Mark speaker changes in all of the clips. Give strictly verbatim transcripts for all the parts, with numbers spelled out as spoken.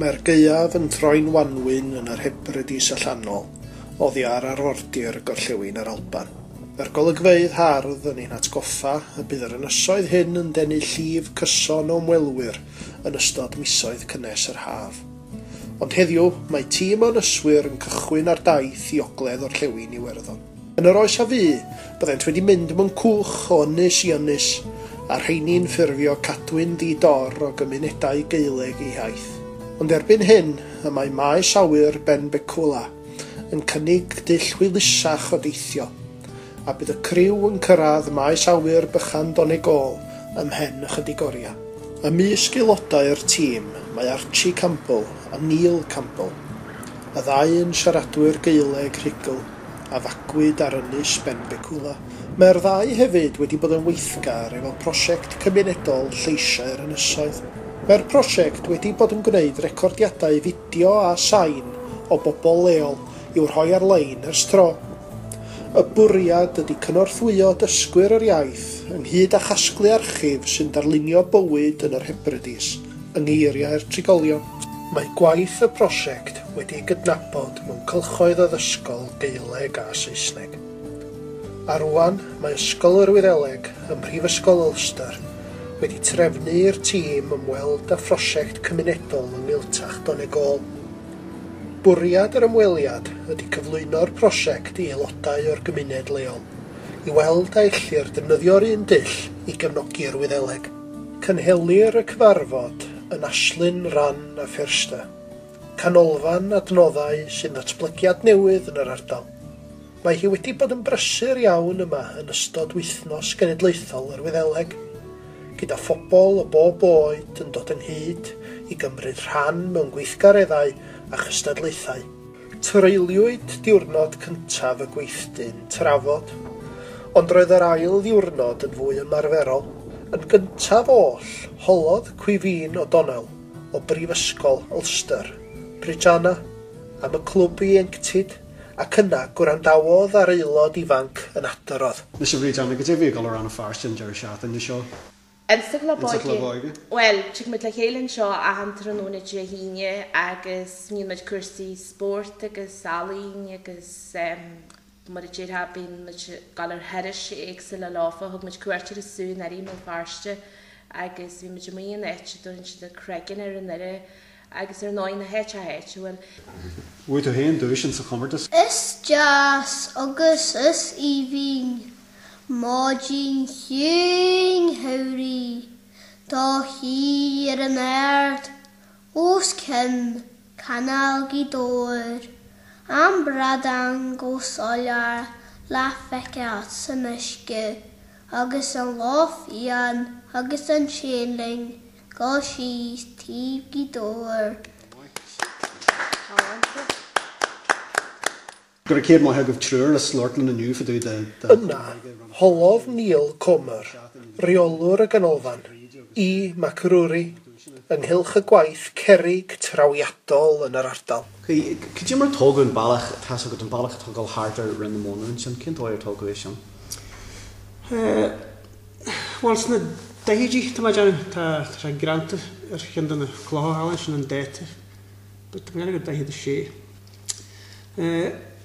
Speaker 1: Mae'r gaeaf yn troi'n wanwyn yn yr Hebrides allanol, oddi ar arfordir gorllewin yr Alban. Mae'r golygfeydd hardd yn ein hatgoffa y bydd yr ynysoedd hyn yn denu llif cyson o ymwelwyr yn ystod misoedd cynnes yr haf. Ond heddiw, mae tîm o ynyswyr yn cychwyn ar daith i ogledd orllewin Iwerddon. Yn yr oes a fu, byddent wedi mynd mewn cwch o ynys i ynys, a'r rheini'n ffurfio cadwyn ddi-dor o gymunedau Gaeleg eu hiaith. Ond erbyn hyn, y mae maes awyr Benbecula yn cynnig dull hwylusach o deithio, a bydd y criw yn cyrraedd maes awyr bychan Donegal ymhen ychydig oriau. Ymysg aelodau'r tîm mae Archie Campbell a Neil Campbell, y ddau yn siaradwyr Gaeleg rhugl a fagwyd ar ynys Benbecula. Mae'r ddau hefyd wedi bod yn weithgar efo prosiect cymunedol Lleisiau'r Ynysoedd. Mae'r prosiect wedi bod yn gwneud recordiadau fideo a sain o bobl leol i'w rhoi ar-lein ers tro. Y bwriad ydy cynorthwyo dysgwyr yr iaith ynghyd â chasglu archif sy'n darlunio bywyd yn yr Hebrides yng ngeiriau'r trigolion. Mae gwaith y prosiect wedi ei gydnabod mewn cylchoedd addysgol Gaeleg a Saesneg. A rwan mae Ysgol yr Wyddeleg ym Mhrifysgol Ulster wedi trefnu i'r tîm ymweld â phrosiect cymunedol yng Ngaeltacht Donegal. Bwriad yr ymweliad ydy cyflwyno'r prosiect i aelodau o'r gymuned leol, i weld a ellir defnyddio'r un dull i gefnogi'r Wyddeleg. Cynhelir y cyfarfod yn Aislinn Rann na Feirste, canolfan adnoddau sy'n ddatblygiad newydd yn yr ardal. Mae hi wedi bod yn brysur iawn yma yn ystod wythnos genedlaethol yr Wyddeleg, gyda phobl o bob oed yn dod ynghyd i gymryd rhan mewn gweithgareddau a chystadlaethau. Treuliwyd diwrnod cyntaf y gweithdy'n trafod, ond roedd yr ail ddiwrnod yn fwy ymarferol. Yn gyntaf oll, holodd Caoimhín O'Donnell o Brifysgol Ulster, Bridgeana, am y clwb ieuenctid, ac yna gwrandawodd ar aelod ifanc yn adrodd.
Speaker 2: Anois a Bhríd, go dtí go Rann na Feirste an deireadh seachtaine seo.
Speaker 3: Insa Chlub Óige. Well, tig muid le chéile anseo achan tráthnóna Dé hAoine agus níonn muid cúrsaí spóirt agus ealaín agus um, mar a déarfá bíonn muid ag dul ar thurais éagsúla leofa. Thug muid cuairt ar an zú anuraidh i mBéal Feirste agus bhí muid amuigh in áit a dtugann siad an Creagán ar an air agus ar ndóigh na háite háitiúil.
Speaker 2: Bhuaigh tú féin duais sa chomórtas?
Speaker 4: Is deas agus is aoibhinn maidin chiúin shamhraidh do shuí ar an ard os cionn Chanáil Ghaoth Dobhair, an bradán go soiléir le feiceáil san uisce agus an luch fhiáin agus an tséanlaing go síos taobh Ghaoth Dobhair.
Speaker 2: Go raibh céad maith agaibh triúr le slort na inniu fadú de.
Speaker 1: Yna, holodd Neil Comer, rheolwr y ganolfan, E. MacRury, ynghylch y gwaith cerrig trawiadol yn yr ardal.
Speaker 2: Cad é mar tógadh an bealach tá agat an bealach atá dul thart ar Rinn na Móna ansin, cén dóigh ar tógadh é sin?
Speaker 5: Bhuel, sna daichidí tá mé ag déanamh, tá sé greanta ar cheann de na clocha thall sin an dáta, but tá mé ag déanamh gur daichead a sé.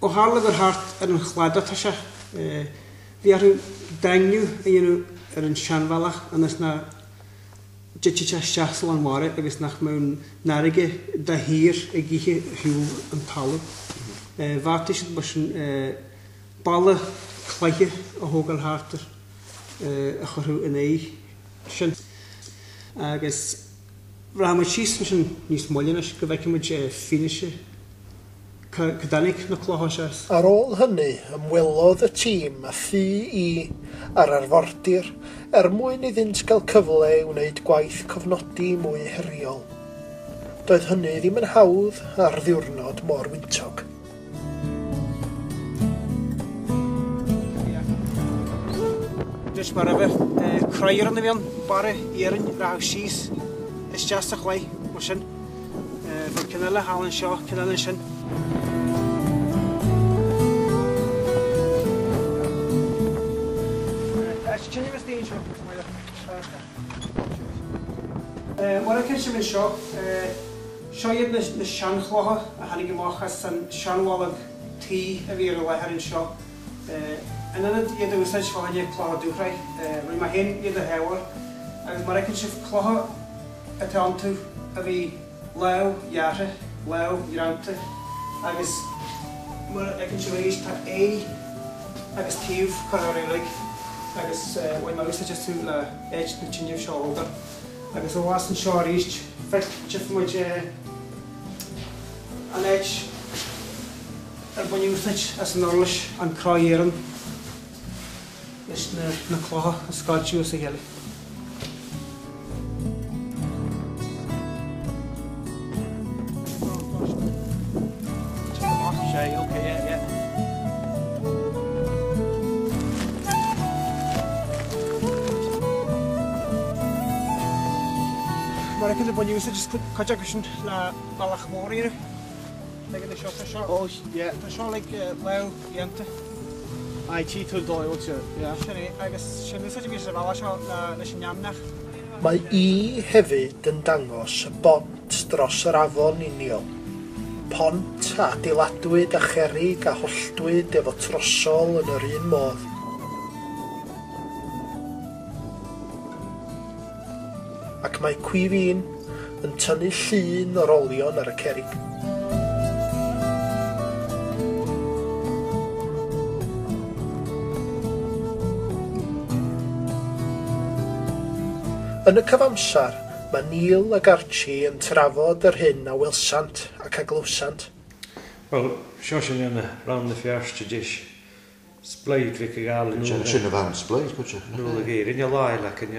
Speaker 5: Ó tharla gur thart ar an chladach atá sé, bhí orthu daingniú a dhéanamh ar an seanbhealach ionas nach dtitfeadh sé isteach sa lán mara agus nach mbeadh an fharraige de shíor ag ithe shiúl an talamh. Bheartaigh siad mar sin balla cloiche a thógáil thart air a chuirfeadh in aghaidh sin. Agus rachaidh muid síos ansin níos moille anois go bhfeicfidh muid fianaise cá dtáinig na clocha seo as.
Speaker 1: Ar ôl hynny, ymwelodd y tîm â thŷ i ar arfordir er mwyn iddynt gael cyfle i wneud gwaith cofnodi mwy heriol. Doedd hynny ddim yn hawdd ar ddiwrnod mor wyntog.
Speaker 5: Anois mar arfer, croer yn y mewn, barra iarainn rachadh síos isteach sa chlaí, mar sin. Bheadh ceann eile thall anseo, ceann eile ansin. Mar a cinn sin seo, Seo iad na seanchlocha a tháinig amach as an seanbholg tuí a bhí ar an láthair anseo. In ionad iad a úsáid fá choinne clocha dúshraith, rinne mé féin iad a shábháil, agus mar a fheiceann sibh clocha atá iontu a bhí lámh-ghearrtha, lámh-ghreanta, agus mar a fheiceann sibh arís tá aghaidh agus taobh curtha orthu uilig, agus bhain mé úsáid astu le áit na tine seo a thógáil. Agus abhus anseo arís, feicfidh muid an áit ar baineadh úsáid as an uirlis, an crá iarainn, leis na clocha a scoilteadh as a chéile. Mar a fheiceann tú baineadh úsáid as cuid acu sin le bealach mór a dhéanamh. Tá seo,
Speaker 2: Oh, yeah.
Speaker 5: Tá seo like lámh-dhéanta.
Speaker 2: Aye, tí tú dóigh sé, yeah.
Speaker 5: Sin é, agus sin úsáid a bhí sa bhealach seo leis an neamhnach.
Speaker 1: Mae I hefyd yn dangos y bont dros yr afon Iniol. Pont a adeiladwyd â cherrig a holltwyd efo trosol yn yr un modd. Ac mae Caoimhín yn tynnu llun o'r olion ar y cerrig. Yn y cyfamser, mae Neil ac Archie yn trafod yr hyn a welsant ac a glywsant.
Speaker 6: Wel, seo sin yna Rann na Feirste deis sbleid bhí gael yn
Speaker 7: Sin sin a bhean sbleid, cuid
Speaker 6: Nôl y geir, yn lai ac yn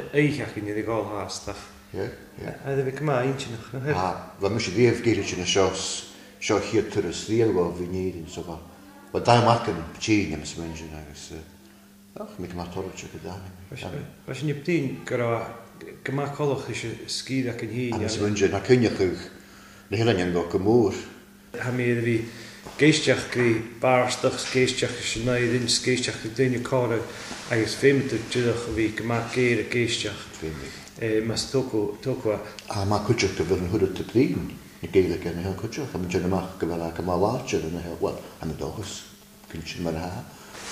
Speaker 6: eichach yn iddi gael hastach.
Speaker 7: Ie, ie.
Speaker 6: A iddi fi cyma intinach.
Speaker 7: A, fe mis i ddiaf geir sin y seo seo hir turas ddiel o fi nid yn so fa. Wel, da mac yn tîn am ysmyn sin agus ach, mi cyma torri trwy gyda.
Speaker 6: Fe sy'n ybdyn gyda gyma colwch eisiau sgyd ac yn hun.
Speaker 7: Am ysmyn sin, ac yn iachwch, na hynny'n yn go gymwr.
Speaker 6: Ha mi iddi fi geistiach gri barstach, geistiach eisiau naid yn, geistiach gri dyn y cora, agus feimid y dydach fi gyma geir y geistiach.
Speaker 7: Feimid.
Speaker 6: Mas tocwa.
Speaker 7: A ma cwtioch gyfer yn hwrdd y blin, y geilic yn hel cwtioch, a mynd yn ymach gyfer ac yma larger yn hel, wel, am y dochus, cynsin mae'r ha.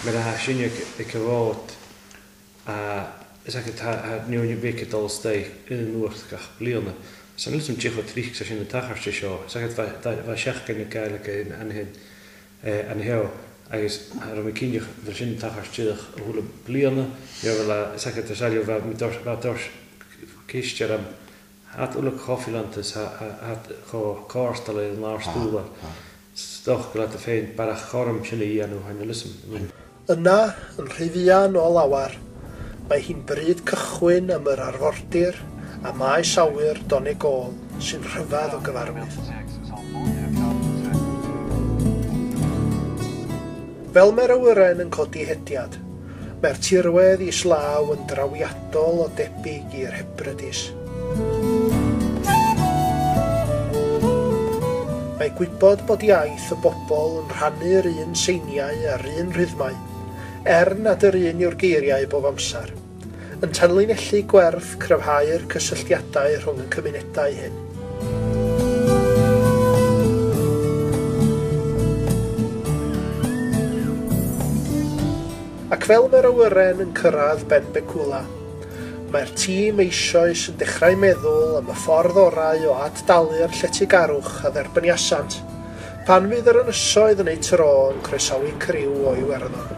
Speaker 6: Mae'r ha sinio y cyfod a is ac ha niwn i beic y dol stei yn y nwrth gach bliona. Sa'n lwys am jich o trich sa sin y tachar si sio. Is ac fa siach gan y gael ac yn anhyn anheo agus ha rom y cynioch fel sin y tachar siach o hwla bliona. Io fel a is ac y salio fa mi dors fa dors ceistio'r am hat wla coffilantus hat cho corstal yn lawr stŵla. Stoch gyda dy ffein barach chorm sin i anw hain y lysm.
Speaker 1: Yna, yn rhy fuan o lawar, mae hi'n bryd cychwyn am yr arfordir a maes awyr Donegal sy'n rhyfedd o gyfarwydd. Fel mae'r awyren yn codi hediad, mae'r tirwedd islaw yn drawiadol o debyg i'r Hebrides. Mae gwybod bod iaith y bobl yn rhannu'r un seiniau a'r un rhythmau, er nad yr un yw'r geiriau bob amser, yn tanlinellu gwerth cryfhau'r cysylltiadau rhwng y cymunedau hyn. Ac fel mae'r awyren yn cyrraedd Benbecula, mae'r tîm eisoes yn dechrau meddwl am y ffordd orau o ad-dalu'r lletygarwch a dderbyniasant, pan fydd yr ynysoedd yn eu tro yn croesawu criw o Iwerddon.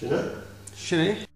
Speaker 7: Sin é?
Speaker 5: Sin é.